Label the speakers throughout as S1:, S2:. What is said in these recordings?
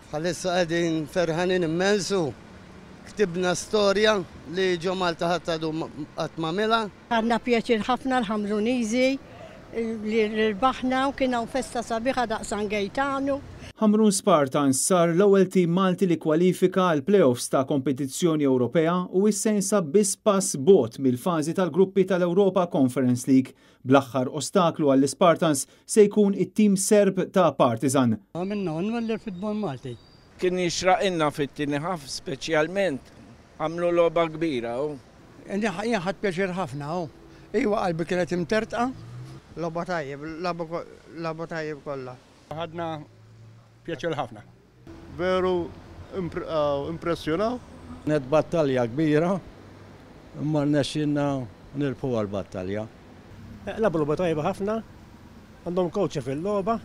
S1: Bħalissa qegħdin ferħanin immens u ktibna storja li ġo Malta ħadd għadu qatt m'għamilha.
S2: Ħadna pjaċir ħafna l-Ħamruniżi li rbaħna u kien hawn festa sabiħa daqs San Gejtanu.
S3: Ħamrun Spartans sar l-ewwel tim Malti li kkwalifika għall-play-offs ta' kompetizzjoni Ewropea u issa jinsab biss pass bogħod mill-fażi tal-gruppi tal-Europa Conference League. Bl-aħħar ostaklu għall-Ispartans se jkun it-tim Serb ta' Partizan.
S4: Għamilna unur lill-futbol Malti.
S5: Kien jixraqilna fit-tieni half speċjalment. Għamlu logħba kbira u.
S4: Jien ħadt pjaċir ħafna u. Iwa qalbi kienet imtertqa.
S1: Logħba tajjeb, lagħbu tajjeb kollha.
S6: Ħadna pjaċir ħafna.
S7: Veru impressjonaw.
S8: Kienet battalja kbira imma rnexxielna nirbħuha l-battalja.
S9: Lagħbu logħba tajba ħafna. Għandhom coach fil-logħba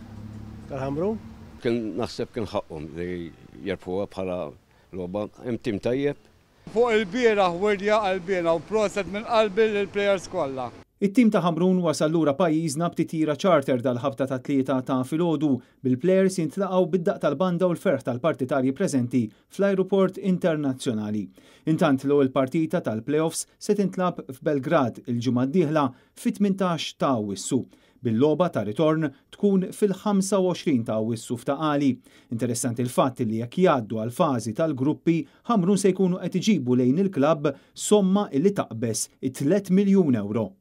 S9: tal-Ħamrun.
S10: Kien naħseb kien ħaqqhom li jirbħuha bħala logħba. Hemm tim tajjeb.
S6: Fuq il-bieraħ wirja qalbiena u proset minn qalbi lill-players kollha.
S3: It-tim ta' Ħamrun wasal lura pajjiżna b'titjira charter dal-ħabta tat-Tlieta ta' filgħodu, bil-plejers jintlaqgħu bid-daqq tal-banda u l-ferħ tal-partitarji preżenti fl-ajruport internazzjonali. Intant l-ewwel partita tal-play-offs se tintlagħab f'Belgrad il-ġimgħa d-dieħla fit-18 ta' Awwissu. Bil-logħba ta' ritorn tkun fil-25 ta' Awwissu f'Ta' Qali. Interessanti l-fatt li jekk jgħaddu għall-fażi tal-gruppi, Ħamrun se jkunu qed iġibu lejn il-klabb somma li taqbeż it-tliet miljun ewro.